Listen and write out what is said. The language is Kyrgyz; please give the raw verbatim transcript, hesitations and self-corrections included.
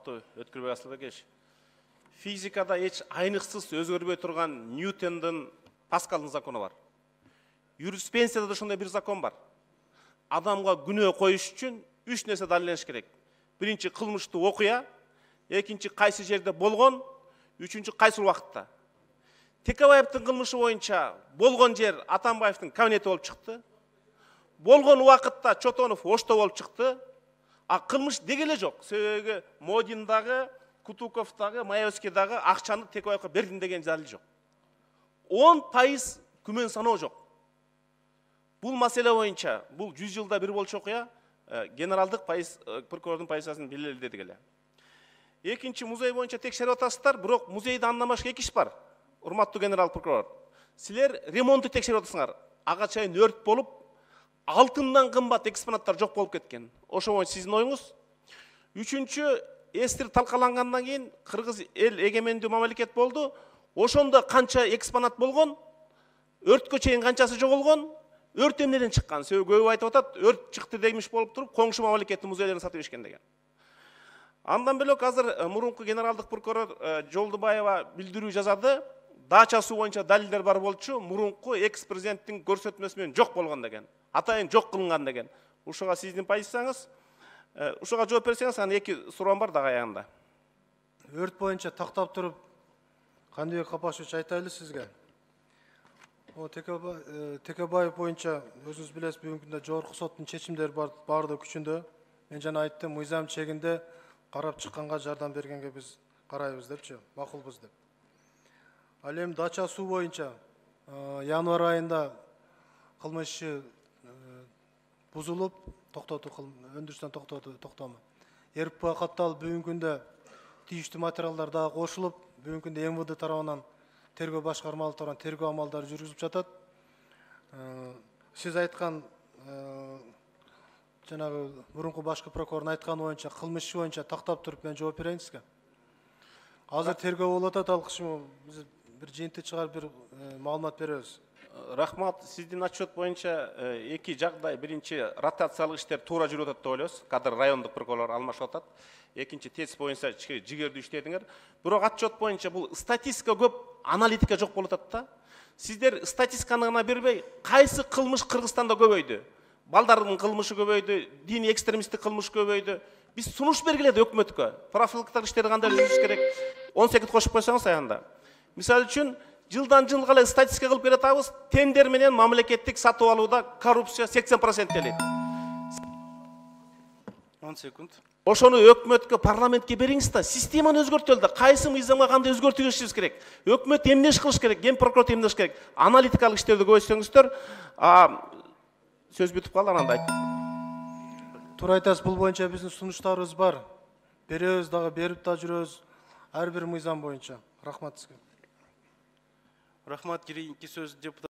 урматтуу Өткүрбек Асылбекович. Физикада эч айныксыз өзгөрбөй турган Ньютондун Паскалдын закону бар. Юриспруденцияда да ошондой бир закон бар. Адамга күнөө коюш үчүн үч нерсе далилдениш керек. Биринчи кылмыштуу окуя, экинчи кайсы жерде болгон, үчүнчү кайсы убакытта. Текебаевдин кылмышы боюнча болгон жер Атамбаевдин кабинети болуп чыкты. Болгон убакытта Чотонов Ошто болуп чыкты. А кылмыш деги эле жок. Себеби Модиндагы, Кутуковдагы, Маевскийдагы акчаны Текебаевге бердим деген далил жок. он пайыз күмөн саноо жок. Бул маселе боюнча, бул жүз жылда бир болчу окуя, генералдык пайыз прокурордун позициясын белгиледик эле. Экинчи, музей боюнча текшерип атасыздар, бирок музейде андан башка эки иш бар. Урматтуу генерал прокурор, силер ремонтту текшерип атасыңар. Ага чейин өрт болуп, алтындан кымбат экспонаттар жок болуп кеткен. Ошо боюнча сиздин оюңуз. Үчүнчү, эстир талкалангандан кийин Кыргыз эл эгемендүү мамлекет болду. Ошондо канча экспонат болгон, өрткө чейин канчасы жоголгон, өрт эмнеден чыккан? Себеби көбү айтып атат, өрт чыкты демиш болуп туруп, коңшу мамлекеттин музейлерин сатып ишкен деген. Андан бөлөк азыр мурунку генералдык прокурор Жолдубаева билдирүү жазады. Дача суу боюнча далилдер бар болчу, мурунку экс-президенттин көрсөтмөсү менен жок болгон деген. Атайын жок кылынган деген. Ушуга сиздин позицияңыз, ушуга жооп берсеңиз, анан эки суроом бар дагы аягында. Өрт боюнча тактап туруп, Кандыбек Капашевич айтайлы сизге. О Текебаев боюнча өзүңүз билесиз, бүгүнкү күндө жогорку соттун чечимдери барды күчүндө. Мен жана айттым, мыйзам чегинде карап чыкканга жардам бергенге биз карайбыз депчи, макулбуз деп. Ал эми Дача суу боюнча январь айында кылмыш иши бузулуп, токтотуу өндүрүштөн токтотуу токтому. РП катталып, бүгүнкү күндө тийиштүү материалдар дагы кошулуп, бүгүнкү күндө эм вэ дэ тарабынан тергөө башкармалары тарабынан тергөө амалдары жүргүзүлүп жатат. Сиз айткан жанагы мурунку башкы прокурордун айтканы боюнча кылмыш иши боюнча тактап туруп мен жооп берейин сизге. Азыр тергөө болуп атат, ал кышым биз бир жыйынтык чыгарып бир маалымат беребиз. Рахмат, сиздин отчет боюнча эки жагдай. Биринчи, ротациялык иштер туура жүрүп атат деп ойлойбуз. Кадыр райондук прокурорлор алмашып атат. Экинчи, тез боюнча жигердүү иштедиңер. Бирок отчет боюнча бул статистика көп, аналитика жок болуп атат да. Сиздер статистиканы гана бербей, кайсы кылмыш Кыргызстанда көбөйдү? Балдардын кылмышы көбөйдү, диний экстремисттик кылмыш көбөйдү. Биз сунуш бергиле өкмөткө. Профилактикалык иштерди кандай жүргүзүш керек? он сегиз кошуп койсоңуз аягында. Мисалы үчүн, жылдан жылга эле статистика кылып бере атабыз, тендер менен мамлекеттик сатып алууда коррупция сексен процент элек. он секунд. Ошону өкмөткө, парламентке бериңиз да, системаны өзгөртөлү да, кайсы мыйзамга кандай өзгөртүш керек? Өкмөт эмне иш кылыш керек? Ген прокурор эмне иш керек? Аналитикалык иштерди көбөйтсөңүздөр, сөз бүтүп калды, анан айт. Туура айтасыз, бул боюнча биздин сунуштарыбыз бар. Беребиз дагы, берип да жүрөбүз. Ар бир мыйзам боюнча. Рахмат сизге. Рахмат, кийинки сөз депутат